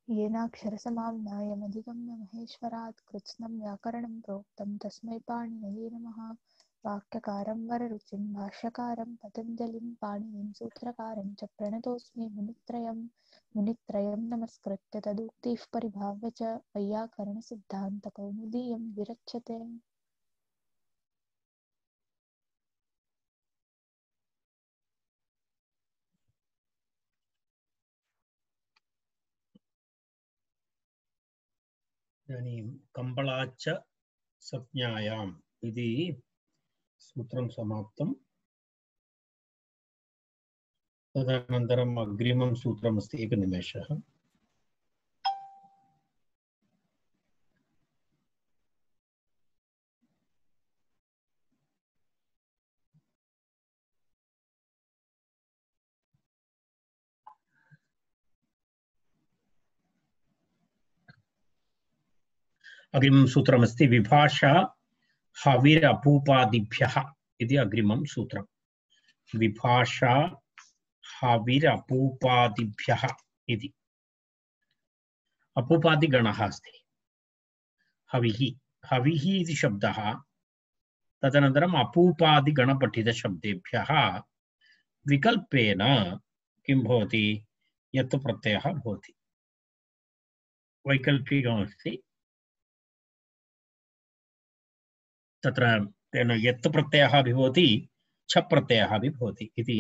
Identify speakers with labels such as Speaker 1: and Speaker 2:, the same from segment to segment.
Speaker 1: येनाक्षरसमाम्नायमधिगम्य महेश्वरात् कृत्स्नं व्याकरणं प्रोक्तं तस्मै पाणिनये नमः। वाक्यकारं वररुचिं भाष्यकारं पतञ्जलिं पाणिनिं सूत्रकारं च प्रणतोऽस्मि मुनित्रयं नमस्कृत्य तदुक्तिः परिभाव्य च वैयाकरणसिद्धान्तकौमुदीयं विरच्यते।
Speaker 2: इदानीं कम्बलाच्च संज्ञायाम् इति सूत्रं समाप्तं। तदनन्तरम् अग्रिमं सूत्रमस्ति। एकनिमेषः। अग्रिमं सूत्रमस्ति विभाषा हविरपूपादिभ्यः इति अग्रिमं सूत्रं। विभाषा हविरपूपादिभ्यः इति अपूपादिगणः अस्ति। हविः हविः इति शब्दः तदनन्तरम् अपूपादिगणपठितशब्देभ्यः विकल्पेन किं भवति यत् प्रत्ययः भवति। वैकल्पिकमस्ति तत्र तेन यत् प्रत्ययः अपि भवति छ प्रत्ययः अपि भवति इति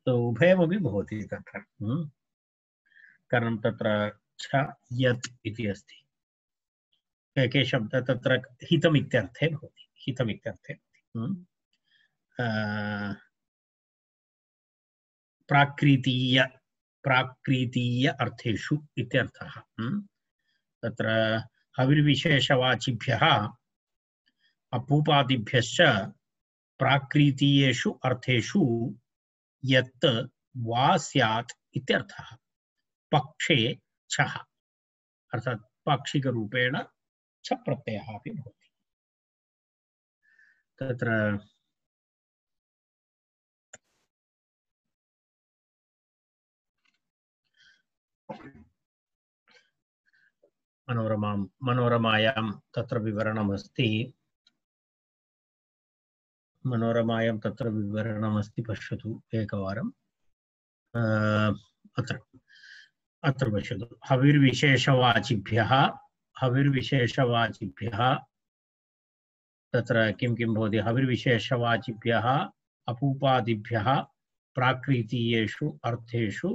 Speaker 2: उभयमपि भवति तत्र। कारणं तत्र छ यत् इति अस्ति। के शब्दः तत्र हितमित्यर्थे भवति। हितमित्यर्थे प्राकृतीय अर्थेषु इत्यर्थः। तत्र हविर्विशेषवाचिभ्यः अपूपादिभ्यश्च प्राकृतीयेषु अर्थेषु यत् वा स्यात् इत्यर्थः। पक्षे छः अर्थात् पाक्षिकरूपेण छ प्रत्ययः अपि भवति। तत्र मनोरमायां तत्र विवरणमस्ति। मनोरमायां तत्र विवरणमस्ति। पश्यतु एकवारम्। अत्र पश्यतु। हविर्विशेषवाचिभ्यः तत्र किं किं भवति। हविर्विशेषवाचिभ्यः अपूपादिभ्यः प्राकृतीयेषु अर्थेषु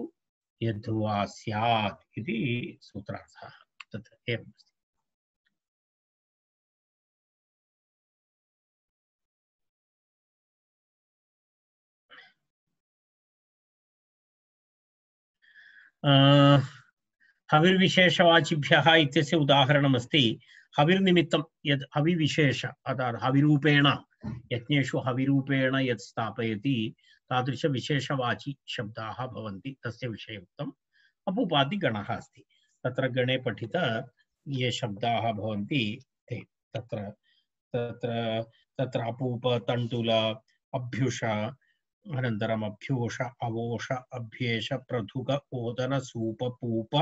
Speaker 2: यद्वा स्यात् इति सूत्रार्थः। तत्र एवमस्ति। हविर्विशेषवाचिभ्यः इत्यस्य उदाहरणमस्ति। हविर्निमित्तं यद् हविविशेष अर्थात् हविरूपेण यज्ञेषु हविरूपेण यत् स्थापयति तादृशविशेषवाचि शब्दाः भवन्ति। तस्य विषये उक्तम्। अपूपादिगणः अस्ति। तत्र गणे पठित ये शब्दाः भवन्ति ते तत्र तत्र तत्र अपूप तण्डुल अभ्युष अनन्तरम् अभ्योष अवोष अभ्येष प्रथुक ओदन सूप पूप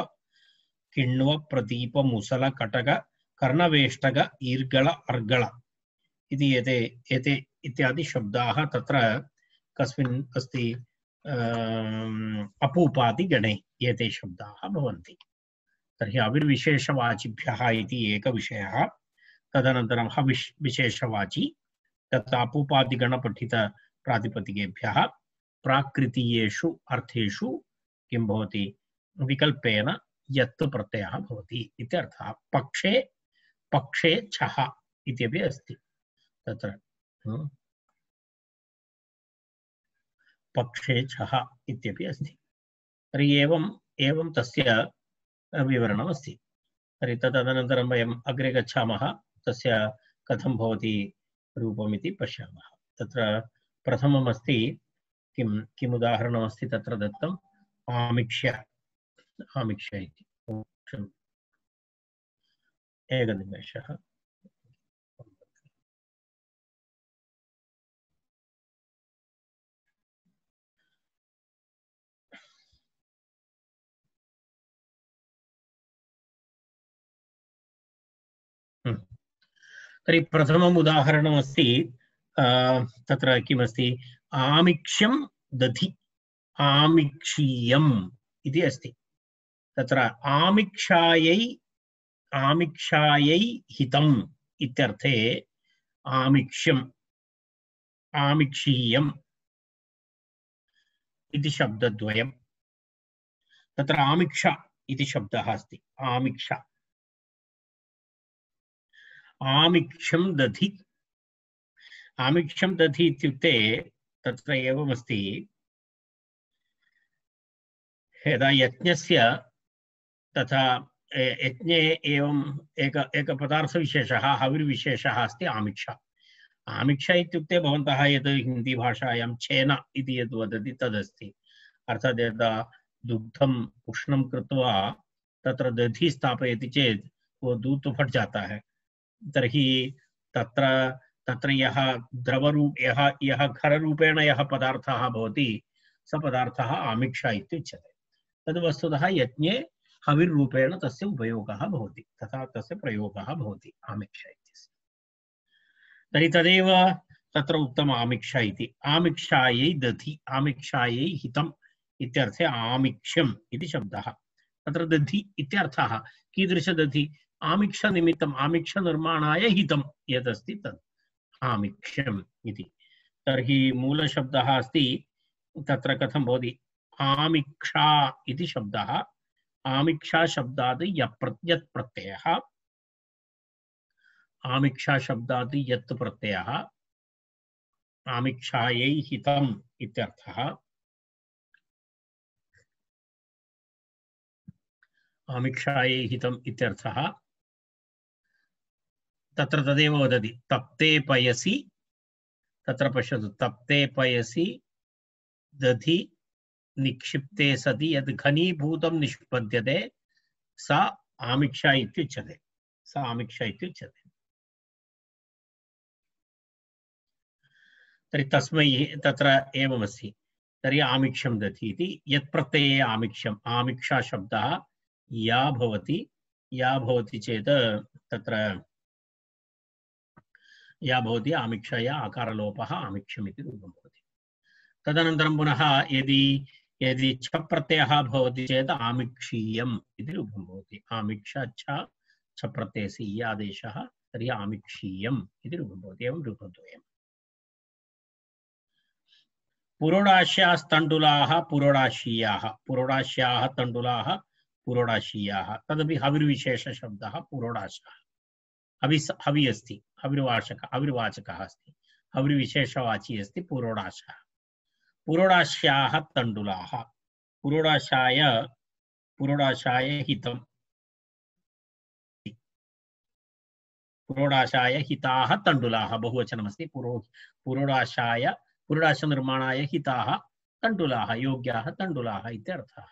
Speaker 2: किण्व प्रदीप मुसल कटक कर्णवेष्टक ईर्गल अर्गल इति एते इत्यादि शब्दाः तत्र कस्मिन् अस्ति अपूपादिगणे एते शब्दाः भवन्ति। तर्हि अविर्विशेषवाचिभ्यः इति एकविषयः। तदनन्तरं हविर्विशेषवाची तत् अपूपादिगणपठित प्रातिपदिकेभ्यः प्राकृतीयेषु अर्थेषु किं भवति विकल्पेन यत् प्रत्ययः भवति इत्यर्थः। पक्षे छः इत्यपि अस्ति। तत्र पक्षे छः इत्यपि अस्ति। तर्हि एवं तस्य विवरणमस्ति। तर्हि तदनन्तरं वयम् अग्रे गच्छामः। तस्य कथं भवति रूपमिति पश्यामः। तत्र प्रथममस्ति किम् उदाहरणमस्ति तत्र दत्तम्। आमिक्ष्य इति। एकनिमेषः। तर्हि प्रथमम् उदाहरणमस्ति तत्र किमस्ति आमिक्षं दधि आमिक्षीयम् इति अस्ति तत्र आमिक्षायै हितम् इत्यर्थे आमिक्षम् आमिक्षीयम् इति शब्दद्वयम् तत्र आमिक्षा इति शब्दः अस्ति आमिक्षा आमिक्षं दधि आमिक्षं दधि इत्युक्ते तत्र एवमस्ति यदा यज्ञस्य तथा यज्ञे एवम् एक पदार्थविशेषः हविर्विशेषः अस्ति आमिक्षा आमिक्षा इत्युक्ते भवन्तः यत् हिंदी भाषायां छेन इति यद् वदति तदस्ति अर्थात् यदा दुग्धम् उष्णं कृत्वा तत्र दधि स्थापयति चेत् वो दूध तो फट जाता है तर्हि तत्र तत्र यः द्रवरूप यः खररूपेण यः पदार्थः भवति स पदार्थः आमिक्षा इत्युच्यते तद् वस्तुतः यज्ञे हविर्रूपेण तस्य उपयोगः भवति तथा तस्य प्रयोगः भवति आमिक्षा इत्यस्य तर्हि तदेव तत्र उक्तम् आमिक्षा इति आमिक्षायै दधि आमिक्षायै हितम् इत्यर्थे आमिक्षम् इति शब्दः तत्र दधि इत्यर्थः कीदृशदधि आमिक्षनिमित्तम् आमिक्षनिर्माणाय हितं यदस्ति तत् आमिक्षम् इति तर्हि मूलशब्दः अस्ति तत्र कथं भवति आमिक्षा इति शब्दः आमिक्षा शब्दात् यत् प्रत्ययः आमिक्षा शब्दात् यत् प्रत्ययः आमिक्षायै हितम् इत्यर्थः आमिक्षायै हितम् इत्यर्थः तत्र तदेव वदति तप्ते पयसि तत्र पश्यतु तप्ते पयसि दधि निक्षिप्ते सति यद् घनीभूतं निष्पद्यते सा आमिक्षा इत्युच्यते सा आमिक्षा इत्युच्यते तर्हि तस्मै तत्र एवमस्ति तर्हि आमिक्षं दधि इति यत् प्रत्यये आमिक्षम् आमिक्षा शब्दः या भवति चेत् तत्र या भवति आमिक्षया आकारलोपः आमिक्षम् इति रूपं भवति तदनन्तरं पुनः यदि छ प्रत्ययः भवति चेत् आमिक्षीयम् इति रूपं भवति आमिक्षा छ प्रत्ययस्य इ आदेशः तर्हि आमिक्षीयम् इति रूपं भवति एवं रूपद्वयम् पुरोडाश्यास्तण्डुलाः पुरोडाशीयाः पुरोडाश्याः तण्डुलाः पुरोडाशीयाः तदपि हविर्विशेषशब्दः पुरोडाशः हवि अस्ति हविर्वाचकः अस्ति हविर्विशेषवाची अस्ति पुरोडाशः पुरोडाश्याः तण्डुलाः पुरोडाशाय हितं पुरोडाशाय हिताः तण्डुलाः बहुवचनमस्ति पुरोडाशनिर्माणाय हिताः तण्डुलाः योग्याः तण्डुलाः इत्यर्थः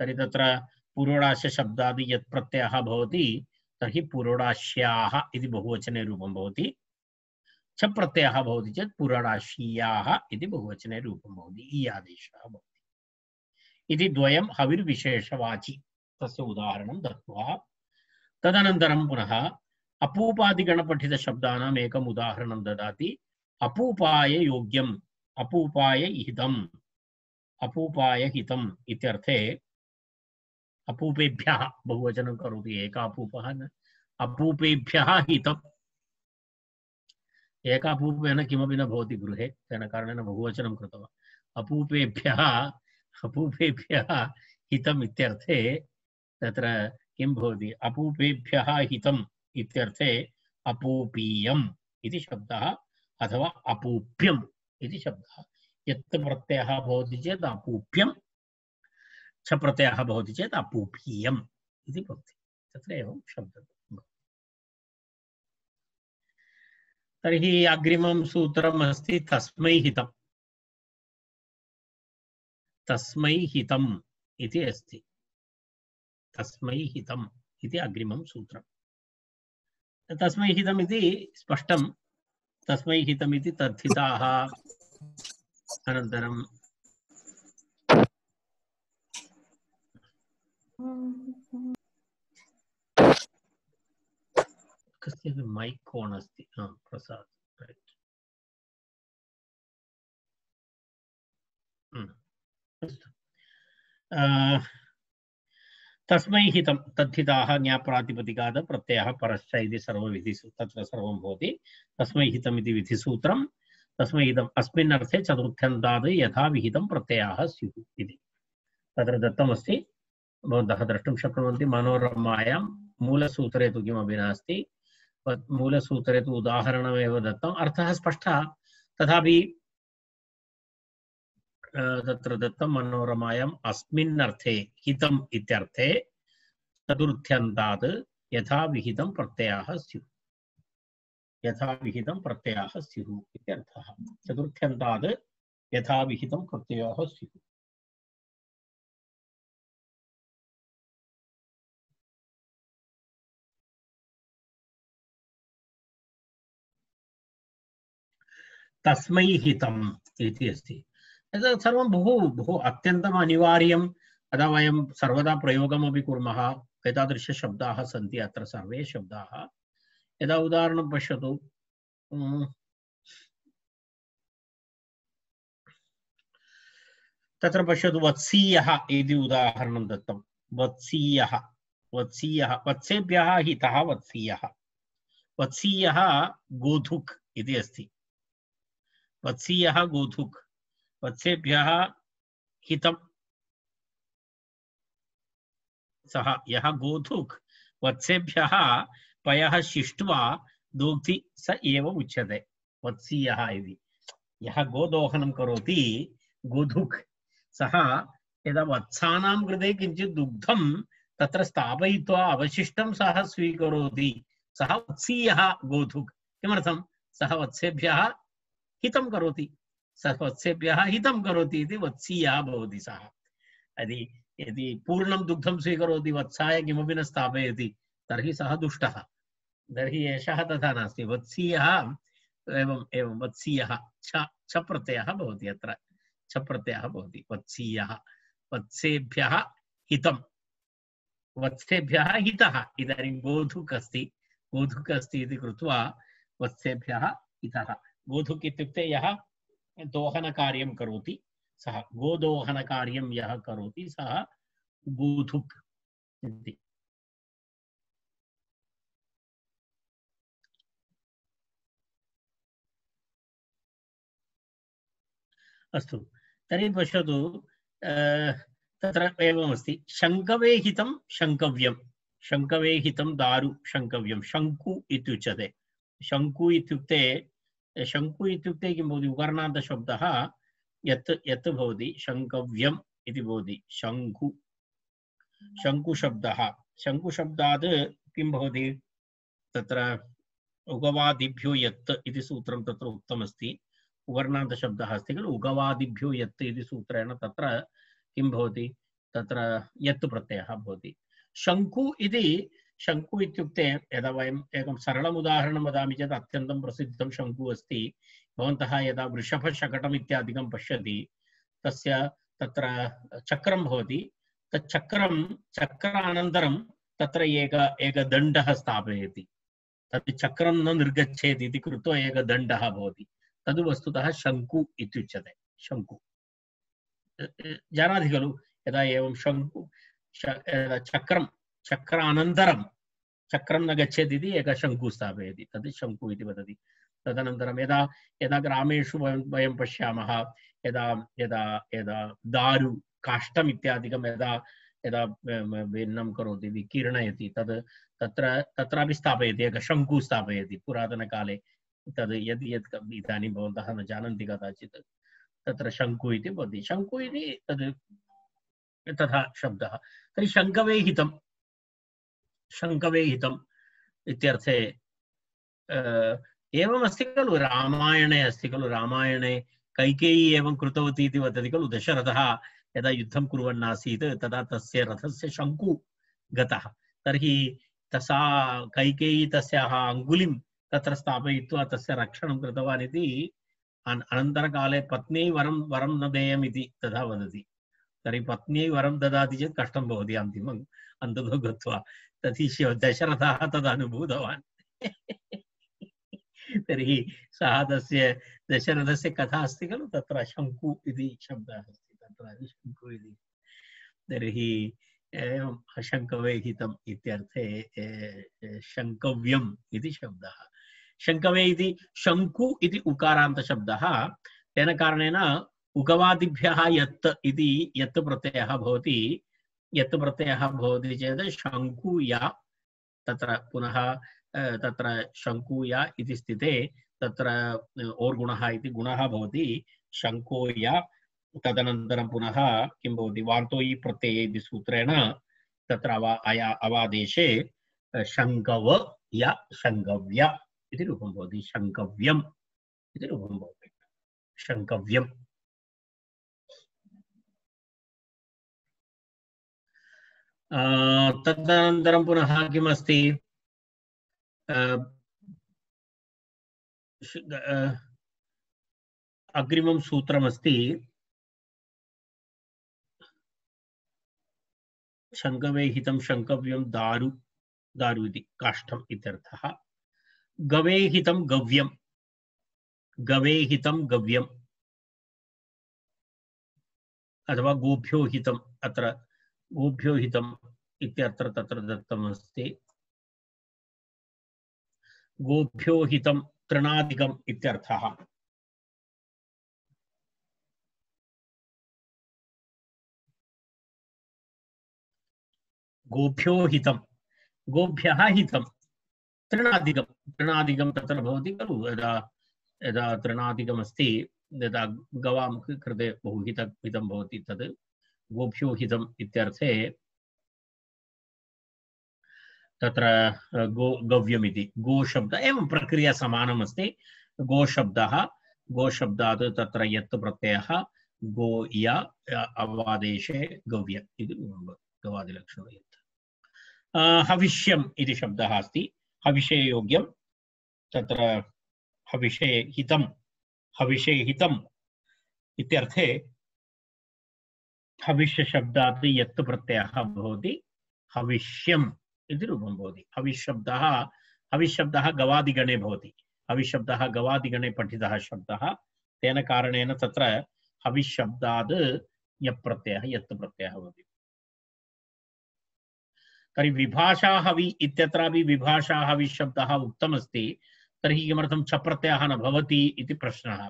Speaker 2: तर्हि तत्र पुरोडाशशब्दाद् यत् प्रत्ययः भवति तर्हि पुरोडाश्याः इति बहुवचने रूपं भवति छ प्रत्ययः भवति चेत् पुरोडाशीयाः इति बहुवचने रूपं भवति इ आदेशः भवति इति द्वयं हविर्विशेषवाचि तस्य उदाहरणं दत्त्वा तदनन्तरं पुनः अपूपादिगणपठितशब्दानाम् एकम् उदाहरणं ददाति अपूपाय योग्यम् अपूपाय हितम् इत्यर्थे अपूपेभ्यः बहुवचनं करोति एक अपूपः न अपूपेभ्यः हितम् एकापूपेन किमपि न भवति गृहे तेन कारणेन बहुवचनं कृतवान् अपूपेभ्यः हितम् इत्यर्थे तत्र किं भवति अपूपेभ्यः हितम् इत्यर्थे अपूपीयम् इति शब्दः अथवा अपूप्यम् इति शब्दः यत् प्रत्ययः भवति चेत् अपूप्यं छ प्रत्ययः भवति चेत् अपूपीयम् इति भवति तत्र एवं शब्दः तर्हि अग्रिमं सूत्रम् अस्ति तस्मै हितम् इति अस्ति तस्मै हितम् इति अग्रिमं सूत्रम् तस्मै हितम् इति स्पष्टं तस्मै हितम् इति तद्धिताः अनन्तरं तस्य मैक् ओन् अस्ति प्रसाद् तस्मै हितं तद्धिताः ज्ञाप्रातिपदिकात् प्रत्ययः परश्च इति सर्वविधिषु तत्र सर्वं भवति तस्मै हितम् इति विधिसूत्रं तस्मै हितम् अस्मिन् अर्थे चतुर्थ्यन्तात् यथा विहितं प्रत्ययाः स्युः इति तत्र दत्तमस्ति भवन्तः द्रष्टुं शक्नुवन्ति मनोरमायां मूलसूत्रे तु किमपि नास्ति मूलसूत्रे तु उदाहरणमेव दत्तम् अर्थः स्पष्टः तथापि तत्र दत्तं मनोरमायाम् अस्मिन् अर्थे हितम् इत्यर्थे चतुर्थ्यन्तात् यथा विहितं प्रत्ययाः स्युः यथा विहितं प्रत्ययाः स्युः इत्यर्थः चतुर्थ्यन्तात् यथा विहितं प्रत्ययाः स्युः तस्मै हितम् इति अस्ति एतत् सर्वं बहु अत्यन्तम् अनिवार्यम् अतः वयं सर्वदा प्रयोगमपि कुर्मः एतादृशशब्दाः सन्ति अत्र सर्वे शब्दाः यदा उदाहरणं पश्यतु तत्र पश्यतु वत्सीयः इति उदाहरणं दत्तं वत्सीयः वत्सीयः वत्सेभ्यः हितः वत्सीयः वत्सीयः गोधुक् इति अस्ति वत्सीयः गोधुक् वत्सेभ्यः हितं सः यः गोधुक् वत्सेभ्यः पयः शिष्ट्वा दोग्धि स एव उच्यते वत्सीयः इति यः गोदोहनं करोति गोधुक् सः यदा वत्सानां कृते किञ्चित् दुग्धं तत्र स्थापयित्वा अवशिष्टं सः स्वीकरोति सः वत्सीयः गोधुक् किमर्थं सः वत्सेभ्यः हितं करोति सः वत्सेभ्यः हितं करोति इति वत्सीयः भवति सः यदि पूर्णं दुग्धं स्वीकरोति वत्साय किमपि न स्थापयति तर्हि सः दुष्टः तर्हि एषः तथा नास्ति वत्सीयः एवं वत्सीयः छ प्रत्ययः भवति अत्र छ प्रत्ययः भवति वत्सीयः वत्सेभ्यः हितं वत्सेभ्यः हितः इदानीं गोधुक् अस्ति इति कृत्वा वत्सेभ्यः हितः गोधुक् इत्युक्ते यः दोहनकार्यं करोति सः गोदोहनकार्यं यः करोति सः गोधुक् इति अस्तु तर्हि पश्यतु तत्र एवमस्ति शङ्कवे हितं शङ्कव्यं शङ्कवे हितं दारु शङ्कव्यं शङ्कु इत्युच्यते शङ्कु इत्युक्ते किं भवति उकरणान्तशब्दः यत् भवति शङ्कव्यम् इति भवति शङ्कुशब्दः शङ्कुशब्दात् किं भवति तत्र उगवादिभ्यो यत् इति सूत्रं तत्र उक्तमस्ति उवर्णान्तशब्दः अस्ति खलु उगवादिभ्यो यत् इति सूत्रेण तत्र किं भवति तत्र यत् प्रत्ययः भवति शङ्कु इत्युक्ते यदा वयम् एकं सरलम् उदाहरणं वदामि चेत् अत्यन्तं प्रसिद्धं शङ्कु अस्ति भवन्तः यदा वृषभशकटम् इत्यादिकं पश्यति तस्य तत्र चक्रं भवति तत् चक्रानन्तरं तत्र एक दण्डः स्थापयति तत् चक्रं न निर्गच्छेत् इति कृत्वा एक दण्डः भवति तद् वस्तुतः शङ्कु इत्युच्यते शङ्कु जानाति खलु यदा एवं शङ्कु चक्रानन्तरं चक्रं न गच्छेत् इति एकः शङ्कु स्थापयति तद् शङ्कु इति वदति तदनन्तरं यदा ग्रामेषु वयं पश्यामः यदा दारु काष्ठम् इत्यादिकं यदा भिन्नं करोति विकीर्णयति तत्रापि स्थापयति एकः शङ्कु स्थापयति पुरातनकाले तद् यद् इदानीं भवन्तः न जानन्ति कदाचित् तत्र शङ्कु इति भवति शङ्कु इति तद् तथा शब्दः तर्हि शङ्कवे हितम् इत्यर्थे एवमस्ति खलु रामायणे अस्ति खलु रामायणे कैकेयी एवं कृतवती इति वदति खलु दशरथः यदा युद्धं कुर्वन् आसीत् तदा तस्य रथस्य शङ्कु गतः तर्हि सा कैकेयी तस्याः अङ्गुलिं तत्र स्थापयित्वा तस्य रक्षणं कृतवान् इति अनन्तरकाले पत्न्यै वरं न देयम् इति तथा वदति तर्हि पत्न्यै वरं ददाति चेत् कष्टं भवति अन्तिमम् अन्ततो गत्वा तर्हि दशरथः तदनुभूतवान् तर्हि सः तस्य दशरथस्य कथा अस्ति खलु, तत्र शङ्कु इति शब्दः अस्ति, तत्र शङ्कु इति। तर्हि एवं शङ्कवे हितम् इत्यर्थे शङ्कव्यम् इति शब्दः। शङ्कवे इति शङ्कु इति उकारान्तशब्दः, तेन कारणेन उगवादिभ्यः यत् इति यत् प्रत्ययः भवति, यत् प्रत्ययः भवति चेत् शङ्कुया, तत्र पुनः तत्र शङ्कुया इति स्थिते तत्र ओर्गुणः इति गुणः भवति शङ्कोया। तदनन्तरं पुनः किं भवति, वान्तोयि प्रत्यये इति सूत्रेण तत्र अवादेशे शङ्कव या शङ्कव्या इति रूपं भवति, शङ्कव्यम् इति रूपं भवति, शङ्कव्यम्। तदनन्तरं पुनः किमस्ति, अग्रिमं सूत्रमस्ति शङ्कवे हितं शङ्कव्यं दारु, दारु इति काष्ठम् इत्यर्थः। गवे हितं गव्यं, गवे हितं गव्यम्, अथवा गोभ्यो हितम्, अत्र गोभ्यो हितम् इत्यत्र तत्र दत्तमस्ति। गोभ्यो हितं तृणादिकम् इत्यर्थः। गोभ्यो हितं, गोभ्यः हितं तृणादिकं, तृणादिकं तत्र भवति खलु, यदा यदा तृणादिकमस्ति, यदा गवां कृते बहु हितं भवति, तद् गोभ्यो हितम् इत्यर्थे तत्र गव्यमिति गोशब्द, एवं प्रक्रिया समानमस्ति। गोशब्दः, गोशब्दात् तत्र यत् प्रत्ययः गो या अवादेशे गव्य इति गवादिलक्षणं यत्। हविष्यम् इति शब्दः अस्ति, हविषे योग्यं, तत्र हविषे हितं, हविषे हितम् इत्यर्थे हविष्य शब्दात् यत् प्रत्ययः भवति हविष्यम् इति रूपं भवति। हविशब्दः, हविशब्दः गवादिगणे भवति, हविशब्दः गवादिगणे पठितः शब्दः, तेन कारणेन तत्र हविशब्दात् यत् प्रत्ययः भवति। तर्हि विभाषा हवि इत्यत्रापि विभाषा हविशब्दः उक्तमस्ति, तर्हि किमर्थं च प्रत्ययः न भवति इति प्रश्नः।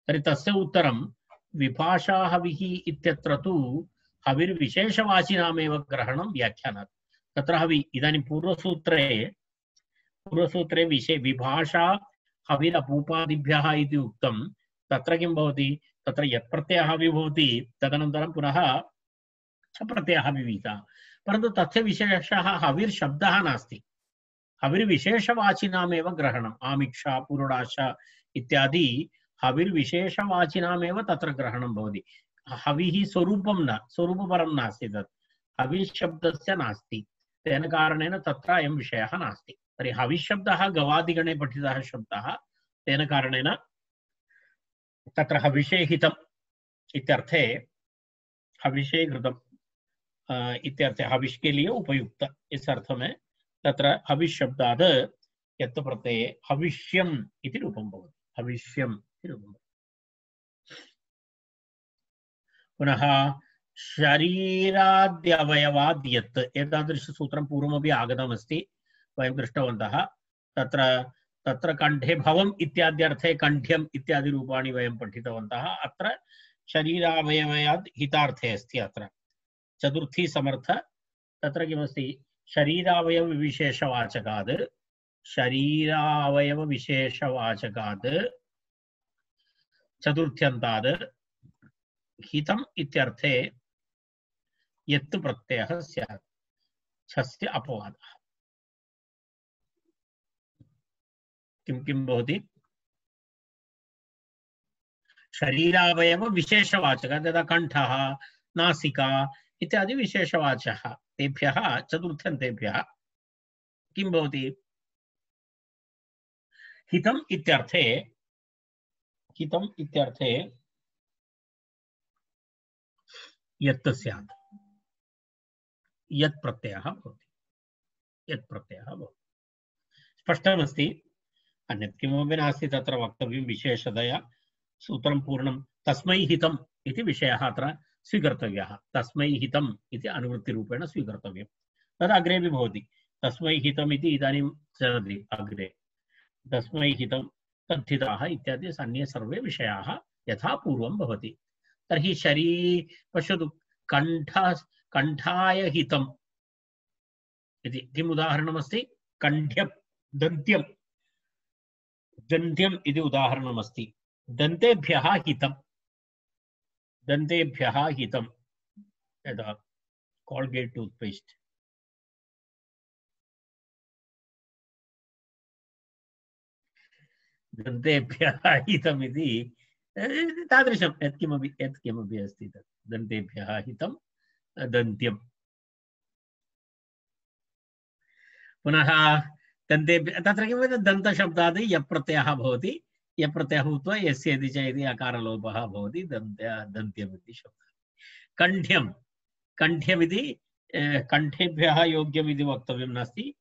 Speaker 2: तर्हि तस्य उत्तरं विभाषा हविः इत्यत्र तु हविर्विशेषवाचिनामेव ग्रहणं व्याख्यानात्। तत्र हवि इदानीं पूर्वसूत्रे विभाषा हविरपूपादिभ्यः इति उक्तं, तत्र किं भवति, तत्र यत् प्रत्ययः हवि भवति, तदनन्तरं पुनः च प्रत्ययः विहितः, परन्तु तस्य विशेषः हविर्शब्दः नास्ति, हविर्विशेषवाचिनामेव ग्रहणम्। आमिक्षा, पुरुडाशा इत्यादि हविर्विशेषवाचिनामेव तत्र ग्रहणं भवति। हविः स्वरूपं न, स्वरूपपरं नास्ति, तत् हविशब्दस्य नास्ति, तेन कारणेन तत्र अयं विषयः नास्ति। तर्हि हविशब्दः गवादिगणे पठितः शब्दः, तेन कारणेन तत्र हविषे हितम् इत्यर्थे हविषे घृतम् इत्यर्थे हविष के लिए उपयुक्त, इस अर्थ में तत्र हविष शब्दात् यत् प्रत्यये हविष्यम् इति रूपं भवति, हविष्यम् इति रूपं। पुनः शरीराद्यवयवाद् यत्, एतादृशसूत्रं पूर्वमपि आगतमस्ति, वयं दृष्टवन्तः। तत्र तत्र कंठे भवम् इत्याद्यर्थे कंठ्यम् इत्यादि रूपाणि वयं पठितवन्तः। अत्र शरीरावयवाद् हितार्थे अस्ति। अत्र चतुर्थी समर्थ, तत्र किमस्ति, शरीरावयवविशेषवाचकात्, शरीरावयवविशेषवाचकात् चतुर्थ्यन्तात् हितम् इत्यर्थे यत् प्रत्ययः स्यात्, छस्य अपवादः। किं किं भवति, शरीरावयवविशेषवाचकात्, यदा कण्ठः, नासिका इत्यादि विशेषवाचः, तेभ्यः चतुर्थ्यन्तेभ्यः किं भवति, हितम् इत्यर्थे, हितम् इत्यर्थे यत् स्यात्, यत् प्रत्ययः भवति, यत् प्रत्ययः भवति। स्पष्टमस्ति अन्यत् किमपि नास्ति तत्र वक्तव्यं विशेषतया सूत्रं पूर्णं तस्मै हितम् इति विषयः अत्र स्वीकर्तव्यः तस्मै हितम् इति अनुवृत्तिरूपेण स्वीकर्तव्यं तद् अग्रेपि भवति तस्मै हितम् इति इदानीं चलति अग्रे तस्मै हितं तद्धिताः इत्यादि अन्ये सर्वे विषयाः यथा पूर्वं भवति तर्हि पश्यतु कण्ठाय हितम् इति किम् उदाहरणमस्ति कण्ठ्यं दन्त्यं दन्त्यम् इति उदाहरणमस्ति दन्तेभ्यः हितं यदा कोल्गेट् टूथपेस्ट् दन्तेभ्यः हितम् इति तादृशं यत्किमपि अस्ति तत् दन्तेभ्यः हितं दन्त्यं पुनः दन्तेभ्यः तत्र किं दन्तशब्दात् यप्रत्ययः भवति यप्रत्ययः भूत्वा यस्य इति च इति अकारलोपः भवति दन्त्यम् इति शब्दः कण्ठ्यमिति कण्ठेभ्यः योग्यम् इति वक्तव्यं नास्ति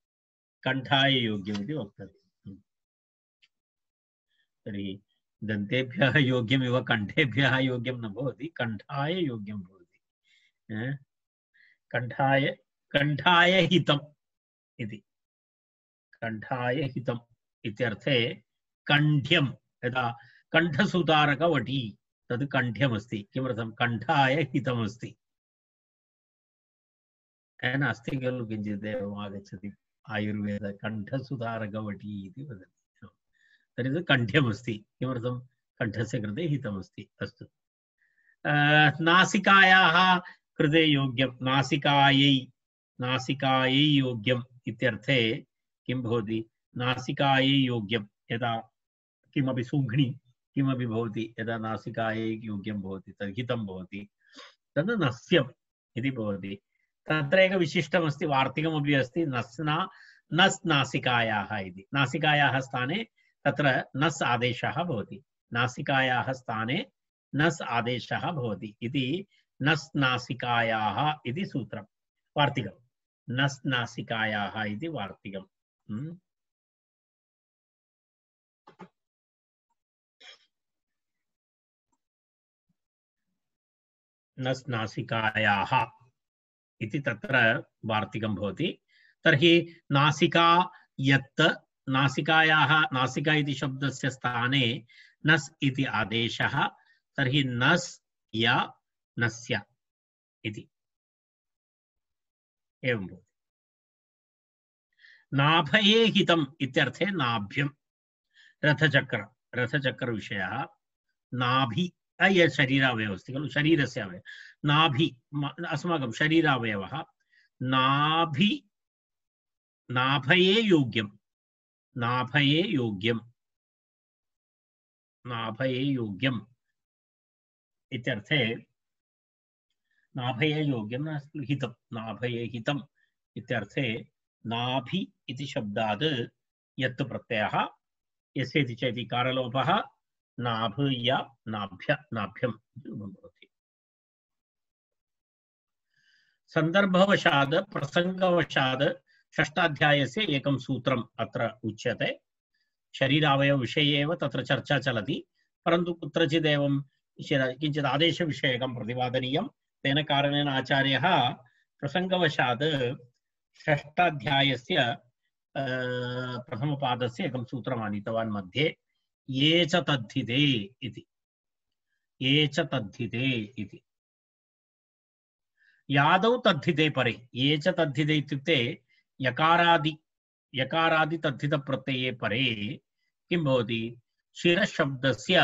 Speaker 2: कण्ठाय योग्यम् इति वक्तव्यम् तर्हि दन्तेभ्यः योग्यमिव कण्ठेभ्यः योग्यं न भवति कण्ठाय योग्यं भवति कण्ठाय हितम् इति कण्ठाय हितम् इत्यर्थे कण्ठ्यं यदा कण्ठसुधारकवटी तद् कण्ठ्यमस्ति किमर्थं कण्ठाय हितमस्ति नास्ति खलु किञ्चित् एवम् आगच्छति आयुर्वेद कण्ठसुधारकवटी इति वदति तर्हि तद् कण्ठ्यमस्ति किमर्थं कण्ठस्य कृते हितमस्ति अस्तु नासिकायाः कृते योग्यं नासिकायै योग्यम् इत्यर्थे किं भवति नासिकायै योग्यं यदा किमपि सुघ्नि किमपि भवति यदा नासिकायै योग्यं भवति तद् हितं भवति तद् नस्यम् इति भवति तत्र एक विशिष्टमस्ति वार्तिकमपि अस्ति नस् नासिकायाः इति नासिकायाः स्थाने तत्र नस् आदेशः भवति नासिकायाः स्थाने नस् आदेशः भवति इति नस् नासिकायाः इति सूत्रं वार्तिकं नस् नासिकायाः इति वार्तिकम् नस् नासिकायाः इति तत्र वार्तिकं भवति तर्हि नासिका यत् नासिकायाः नासिका इति शब्दस्य स्थाने नस् इति आदेशः तर्हि नस् या नस्य इति एवं भवति नाभये हितम् इत्यर्थे नाभ्यं रथचक्र विषयः नाभि शरीरावयवः अस्ति खलु शरीरस्य अवयवः नाभि अस्माकं शरीरावयवः नाभये योग्यम् इत्यर्थे नाभये योग्यं नास्ति हितं नाभये हितम् इत्यर्थे नाभि इति शब्दात् यत् प्रत्ययः यस्य इति चेति कारलोपः नाभ या नाभ्यं भवति सन्दर्भवशात् प्रसंगवशात् षष्ठाध्यायस्य एकं सूत्रम् अत्र उच्यते शरीरावयव विषये एव तत्र चर्चा चलति परन्तु कुत्रचित् एवं किञ्चित् आदेशविषयकं प्रतिपादनीयं तेन कारणेन आचार्यः प्रसंगवशात् षष्ठाध्यायस्य प्रथमपादस्य एकं सूत्रम् आनीतवान् मध्ये ये च तद्धिते इति यादौ तद्धिते परे ये च तद्धिते इत्युक्ते यकारादि तद्धित प्रत्यये परे किं भवति शिरशब्दस्य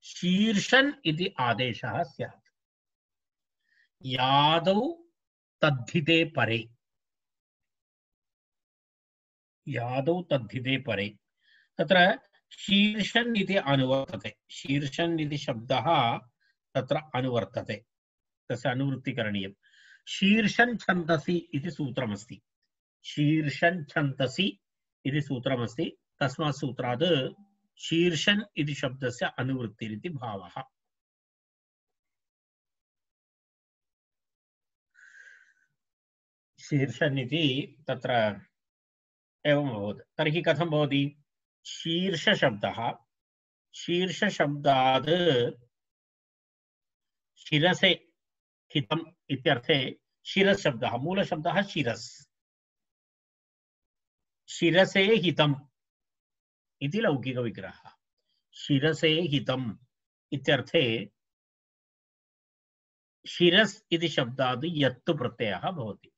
Speaker 2: शीर्षन् इति आदेशः स्यात् यादौ तद्धिते परे तत्र शीर्षन् इति अनुवर्तते शीर्षन् इति शब्दः तत्र अनुवर्तते तस्य अनुवृत्ति करणीयं शीर्षन् छन्दसि इति सूत्रमस्ति शीर्षन् छन्दसि इति सूत्रमस्ति तस्मात् सूत्रात् शीर्षन् इति शब्दस्य अनुवृत्तिरिति भावः शीर्षन् इति तत्र एवम् अभवत्। तर्हि कथं भवति? शीर्षशब्दः, शीर्षशब्दात् शिरसे हितम् इत्यर्थे शिरस् शब्दः, मूलशब्दः शिरस्, शिरसे हितम् इति लौकिकविग्रहः। शिरसे हितम् इत्यर्थे शिरस् इति शब्दात् यत् प्रत्ययः भवति,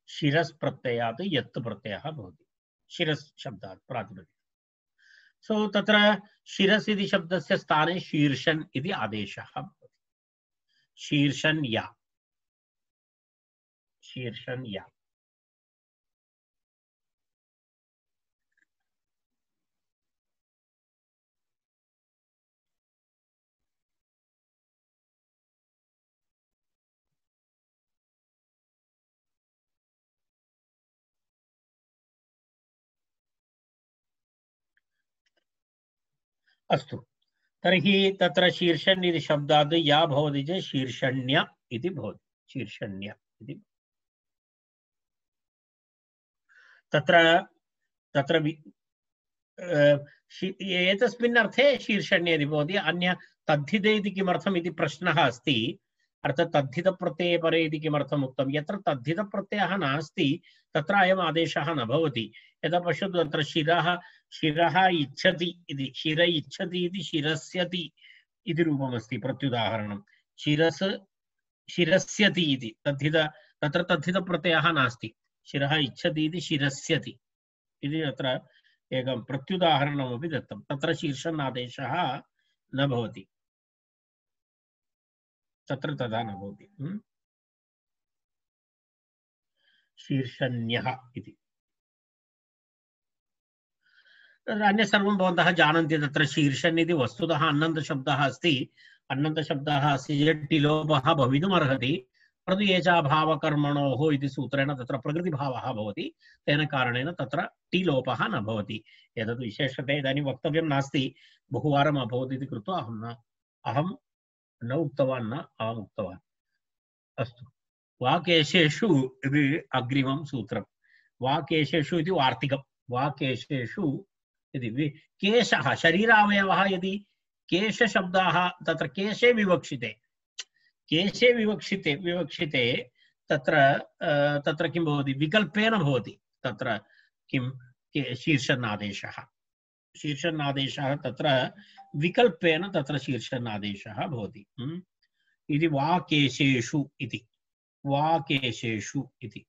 Speaker 2: शिरस् प्रत्ययात् यत् प्रत्ययः भवति, शिरस् शब्दात् प्रातिपदिकम्। सो तत्र शिरस् इति शब्दस्य स्थाने शीर्षन् इति आदेशः भवति। शीर्षन्या, शीर्षन्या। अस्तु, तर्हि तत्र शीर्षन् इति शब्दात् या भवति चेत् शीर्षण्य इति भवति, शीर्षण्य इति। तत्र तत्र एतस्मिन् अर्थे शीर्षण्य इति भवति। अन्य तद्धिते इति किमर्थम् इति प्रश्नः अस्ति। अर्थात् तद्धितप्रत्यये परे इति किमर्थम् उक्तं? यत्र तद्धितप्रत्ययः नास्ति तत्र अयम् आदेशः न भवति। यदा पश्यतु तत्र शिरः, शिरः इच्छति इति, शिर इच्छति इति शिरस्यति इति रूपमस्ति प्रत्युदाहरणं। शिरस् शिरस्यति इति तद्धित, तत्र तद्धितप्रत्ययः नास्ति। शिरः इच्छति इति शिरस्यति इति तत्र एकं प्रत्युदाहरणमपि दत्तं। तत्र शीर्षन् आदेशः न भवति, तत्र तथा न भवति। शीर्षण्यः इति। अन्य सर्वं भवन्तः जानन्ति। तत्र शीर्षन् इति वस्तुतः अन्नन्तशब्दः अस्ति। अन्नन्तशब्दः अस्ति चेत् टिलोपः भवितुमर्हति, परन्तु एचाभावकर्मणोः इति सूत्रेण तत्र प्रकृतिभावः भवति। तेन कारणेन तत्र टिलोपः न भवति। एतद् विशेषतया इदानीं वक्तव्यं नास्ति, बहुवारम् अभवत् इति कृत्वा अहं न उक्तवान्, न अहम् उक्तवान्। अस्तु, वाकेशेषु इति अग्रिमं सूत्रं। वाकेशेषु इति वार्तिकं। वाकेशेषु इति केशः, शरीरावयवः यदि केशशब्दाः तत्र केशे विवक्षिते, केशे विवक्षिते तत्र तत्र किं भवति? विकल्पेन भवति। तत्र किं शीर्षन्नादेशः, शीर्षन्नादेशः तत्र विकल्पेन तत्र शीर्षन्नादेशः भवति। इति वाकेशेषु इति, वाकेशेषु इति।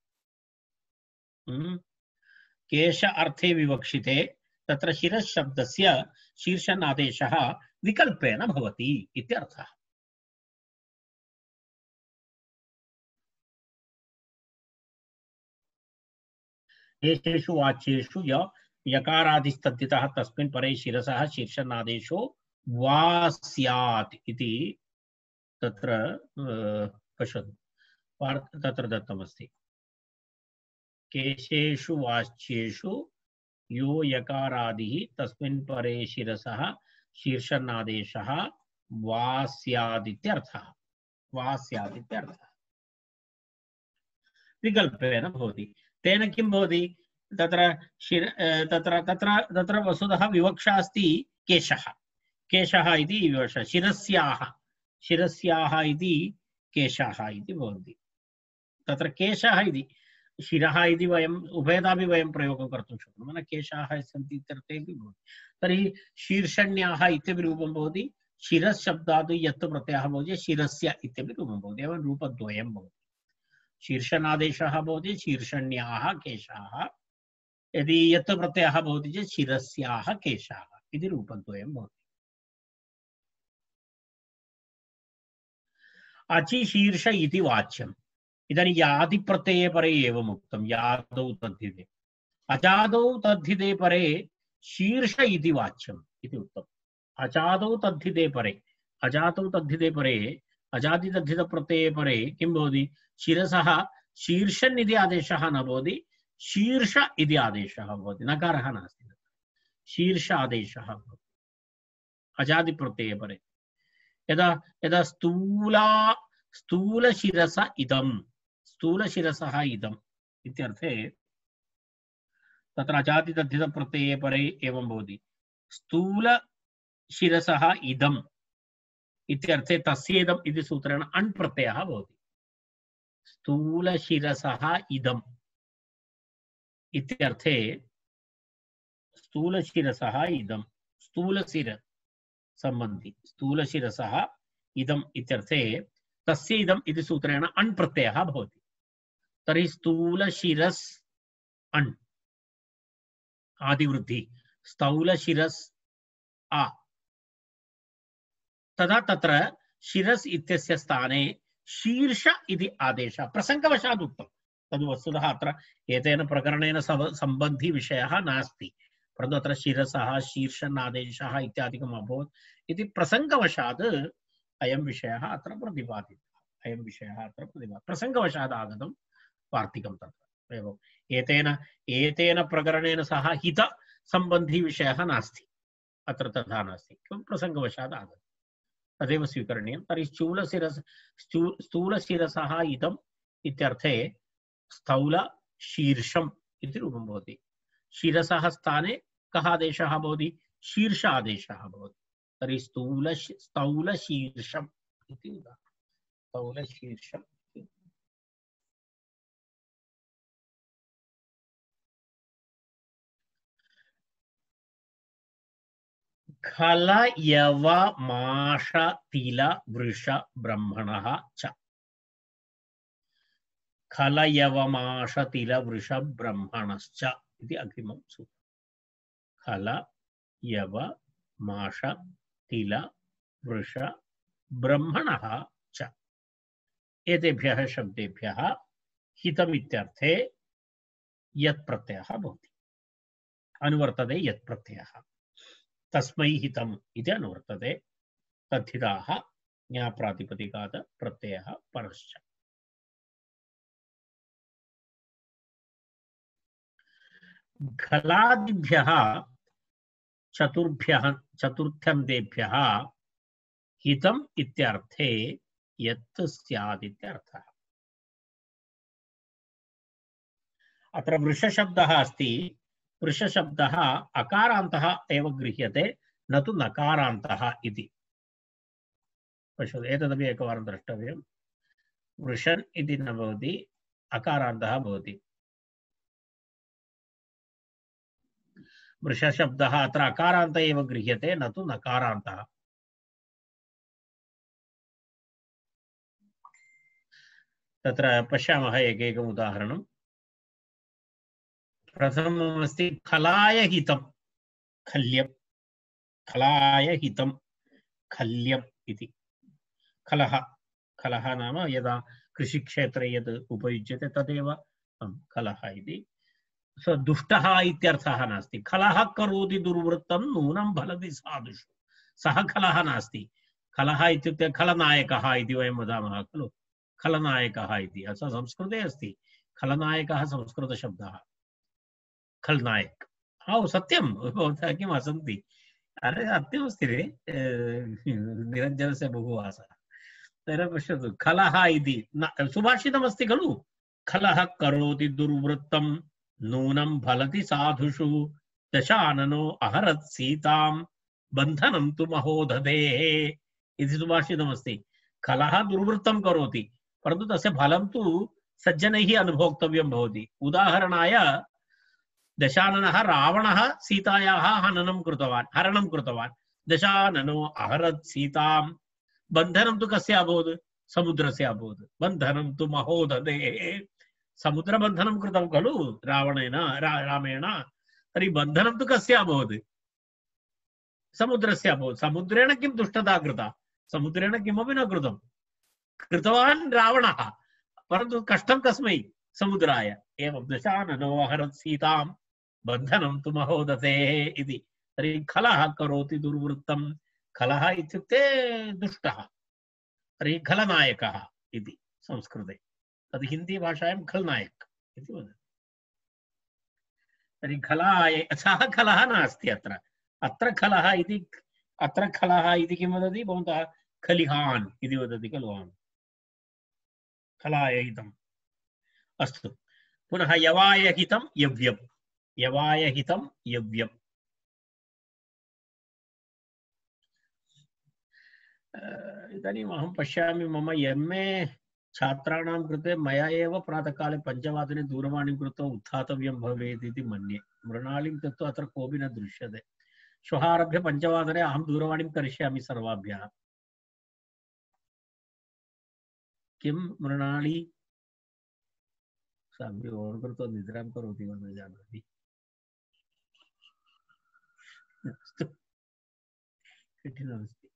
Speaker 2: केश अर्थे विवक्षिते तत्र शिरः शब्दस्य शीर्षन्नादेशः विकल्पेन भवति इत्यर्थः। एषेषु वाच्येषु यकारादिस्तद्धितः तस्मिन् परे शिरसः शीर्षन्नादेशो वा स्यात् इति तत्र पश्यतु, तत्र दत्तमस्ति। केशेषु वाच्येषु यो यकारादिः तस्मिन् परे शिरसः शीर्षन्नादेशः वा स्यात् इत्यर्थः, वा स्यात् इत्यर्थः। विकल्पेन भवति। तेन किं भवति? तत्र तत्र तत्र तत्र वस्तुतः विवक्षा अस्ति केशः, केशः इति विवक्षा। शिरस्याः, शिरस्याः इति केशः इति भवति। तत्र केशः इति शिरः इति वयम् उभयतापि वयं प्रयोगं कर्तुं शक्नुमः। केशाः सन्ति इत्यर्थेपि भवति। तर्हि शीर्षण्याः इत्यपि रूपं भवति। शिरस् शब्दात् यत् प्रत्ययः भवति शिरस्य इत्यपि रूपं भवति। एवं रूपद्वयं भवति। शीर्षनादेशः भवति शीर्षण्याः केशाः, यदि यत् प्रत्ययः भवति चेत् शिरस्याः केशाः इति रूपद्वयं भवति। अचिशीर्ष इति वाच्यम्। इदानीं यादि प्रत्यये परे एवम् उक्तं, यादौ तद्धिते। अजादौ तद्धिते परे शीर्ष इति वाच्यम् इति उक्तम्। अजादौ तद्धिते परे, अजातौ तद्धिते परे, अजादि तद्धित प्रत्यये परे किं भवति? शिरसः शीर्षन् इति आदेशः न भवति, शीर्ष इति आदेशः भवति। नकारः नास्ति, शीर्ष आदेशः भवति अजादि प्रत्यये परे। यदा यदा स्थूलशिरस इदं, स्थूलशिरसः इदं, इत्यर्थे तत्र अजादितद्धितप्रत्यये परे एवं भवति स्थूलशिरसः इदम् इत्यर्थे तस्येदम् इति सूत्रेण अण् प्रत्ययः भवति स्थूलशिरसः इदम् इत्यर्थे स्थूलशिरसः इदं स्थूलशिर संबंधी स्थूलशिरसः इदम् इत्यर्थे तस्य इदम् इति सूत्रेण अण् प्रत्ययः भवति तर्हि स्थूलशिरस् अण् आदिवृद्धि स्थूलशिरस् आ तदा तत्र शिरस् इत्यस्य स्थाने शीर्ष इति आदेशः प्रसङ्गवशात् उक्तं तद् वस्तुतः अत्र एतेन प्रकरणेन सम्बन्धी विषयः नास्ति परन्तु अत्र शिरसः शीर्षनादेशः इत्यादिकम् अभवत् इति प्रसङ्गवशात् अयं विषयः अत्र प्रतिपादितः प्रसङ्गवशात् आगतं वार्तिकं तत्र एवम् एतेन प्रकरणेन सह हित सम्बन्धी विषयः नास्ति अत्र तथा नास्ति प्रसङ्गवशात् आगतम् तदेव स्वीकरणीयं तर्हि स्थूलशिरसः इदम् इत्यर्थे स्थौलशीर्षम् इति रूपं भवति शिरसः स्थाने कः आदेशः भवति शीर्ष आदेशः भवति तर्हि स्थौलशीर्षम् इति स्थौलशीर्षम् खल यव माष तिल वृष ब्रह्मणः च खल यव माष तिल वृष ब्रह्मणश्च इति अग्रिमं सूत्रम् खल यव माष तिल वृष ब्रह्मणः च एतेभ्यः शब्देभ्यः हितमित्यर्थे यत् प्रत्ययः भवति अनुवर्तते यत् प्रत्ययः तस्मै हितम् इति अनुवर्तते तद्धिताः ज्ञाप्रातिपदिकात् प्रत्ययः परश्च खलादिभ्यः चतुर्थ्यन्तेभ्यः हितम् इत्यर्थे यत् स्यात् इत्यर्थः अत्र वृषशब्दः अस्ति वृषशब्दः अकारान्तः एव गृह्यते न तु नकारान्तः इति पश्यतु एतदपि एकवारं द्रष्टव्यं वृषन् इति न भवति अकारान्तः भवति वृषशब्दः अत्र अकारान्त एव गृह्यते न तु नकारान्तः तत्र पश्यामः एकैकम् उदाहरणं प्रथममस्ति खलाय हितं खल्यं खलाय हितं खल्यम् इति खलः खलः नाम यदा कृषिक्षेत्रे यद् उपयुज्यते तदेव खलः इति दुष्टः इत्यर्थः नास्ति खलः करोति दुर्वृत्तं नूनं फलति साधुषु सः खलः नास्ति खलः इत्युक्ते खलनायकः इति वयं वदामः खलु खलनायकः इति अस्य संस्कृते अस्ति खलनायकः संस्कृतशब्दः खलनायक सत्यं भवन्तः किम् असन्ति अरे सत्यमस्ति रे निरञ्जनस्य बहु आसः तर्हि पश्यतु खलः इति सुभाषितमस्ति खलु खलः करोति दुर्वृत्तं नूनं फलति साधुषु दशाननो अहरत् सीतां बन्धनं तु महोदधेः इति सुभाषितमस्ति खलः दुर्वृत्तं करोति परन्तु तस्य फलं तु सज्जनैः अनुभोक्तव्यं भवति उदाहरणाय दशाननः रावणः सीतायाः हरणं कृतवान् दशाननो अहरत् सीतां बन्धनं तु कस्य अभवत् समुद्रस्य अभवत् बन्धनं तु महोदधेः समुद्रबन्धनं कृतं खलु रावणेन रामेण तर्हि बन्धनं तु कस्य अभवत् समुद्रस्य अभवत् समुद्रेण किं दुष्टता कृता समुद्रेण किमपि न कृतवान् रावणः परन्तु कष्टं कस्मै समुद्राय एवं दशाननो अहरत् सीतां बन्धनं तु महोदधेः इति तर्हि खलः करोति दुर्वृत्तं खलः इत्युक्ते दुष्टः तर्हि खलनायकः इति संस्कृते तद् हिंदी भाषायां खलनायक इति वदति तर्हि खलाय सः खलः नास्ति अत्र खलः इति किं वदति भवन्तः खलिहान् इति वदति खलु खलाय हितम् अस्तु पुनः यवायहितं यव्यम्, यवायहितं यव्यम्। इदानीम् अहं पश्यामि मम MA छात्राणां कृते मया एव प्रातःकाले 5:00 दूरवाणीं कृत्वा उत्थातव्यं भवेत् इति मन्ये। मृणालीं तत्तु अत्र कोऽपि न दृश्यते। श्वः आरभ्य 5:00 अहं दूरवाणीं करिष्यामि सर्वाभ्यः। किं मृणाली सापि ओन् कृत्वा निद्रां करोति वा न जानामि। अस्तु, कठिनमस्ति।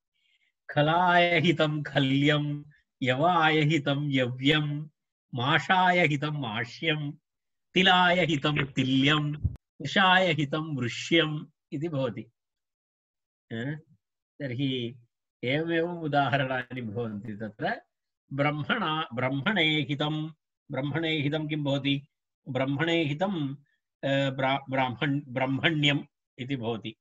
Speaker 2: खलायहितं खल्यं, यवायहितं यव्यं, माषायहितं माष्यं, तिलायहितं तिल्यं, वृषायहितं वृष्यम् इति भवति। तर्हि एवमेव उदाहरणानि भवन्ति तत्र। ब्रह्मणे हितं, ब्रह्मणे हितं किं भवति? ब्रह्मणे हितं ब्राह्मण्यम् इति भवति।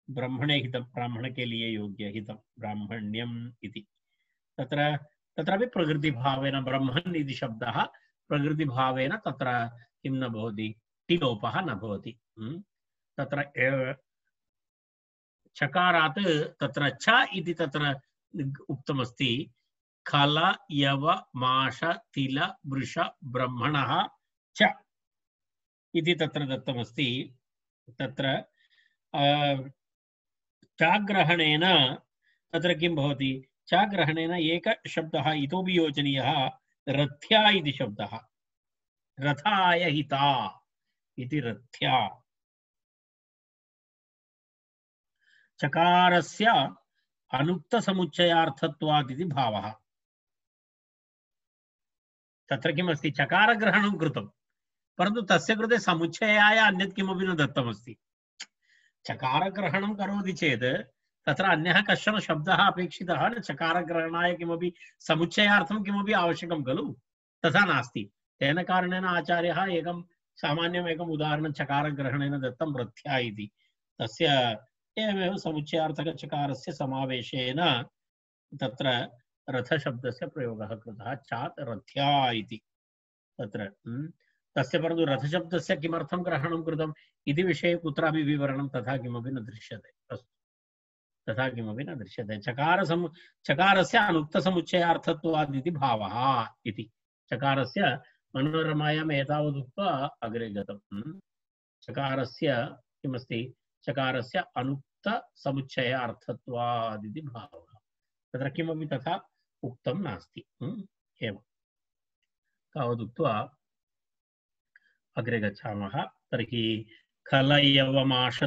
Speaker 2: ब्रह्मणे हितं, ब्राह्मण के लिए योग्य हितं ब्राह्मण्यम् इति। तत्र तत्रापि प्रकृतिभावेन ब्रह्मन् इति शब्दः प्रकृतिभावेन तत्र किं न भवति, टिलोपः न भवति। तत्र चकारात् तत्र च इति तत्र उक्तमस्ति। खल यव माष तिल वृष ब्रह्मणः च इति तत्र दत्तमस्ति। तत्र चाग्रहणेन तत्र किं भवति? चाग्रहणेन एकः शब्दः इतोपि योजनीयः, रथ्या इति शब्दः। रथाय हिता इति रथ्या। चकारस्य अनुक्तसमुच्चयार्थत्वात् इति भावः। तत्र किमस्ति? चकारग्रहणं कृतं, परन्तु तस्य कृते समुच्चयाय अन्यत् किमपि न दत्तमस्ति। चकारग्रहणं करोति चेत् तत्र अन्यः कश्चन शब्दः अपेक्षितः न। चकारग्रहणाय किमपि समुच्चयार्थं किमपि आवश्यकं खलु? तथा नास्ति। तेन कारणेन आचार्यः एकं सामान्यम् एकम् उदाहरणं चकारग्रहणेन दत्तं, रथ्या इति। तस्य एवमेव समुच्चयार्थकचकारस्य समावेशेन तत्र रथशब्दस्य प्रयोगः कृतः, चात् रथ्या इति तत्र। तस्य परन्तु रथशब्दस्य किमर्थं ग्रहणं कृतम् इति विषये कुत्रापि विवरणं तथा किमपि न दृश्यते। अस्तु, तथा किमपि न दृश्यते। चकारस्य अनुक्तसमुच्चयार्थत्वात् इति भावः इति। चकारस्य मनोरमायाम् एतावदुक्त्वा अग्रे गतम्। चकारस्य किमस्ति? चकारस्य अनुक्तसमुच्चयार्थत्वात् इति भावः। तत्र किमपि तथा उक्तं नास्ति। एवं तावदुक्त्वा अग्रे गच्छामः। तर्हि खल यव माष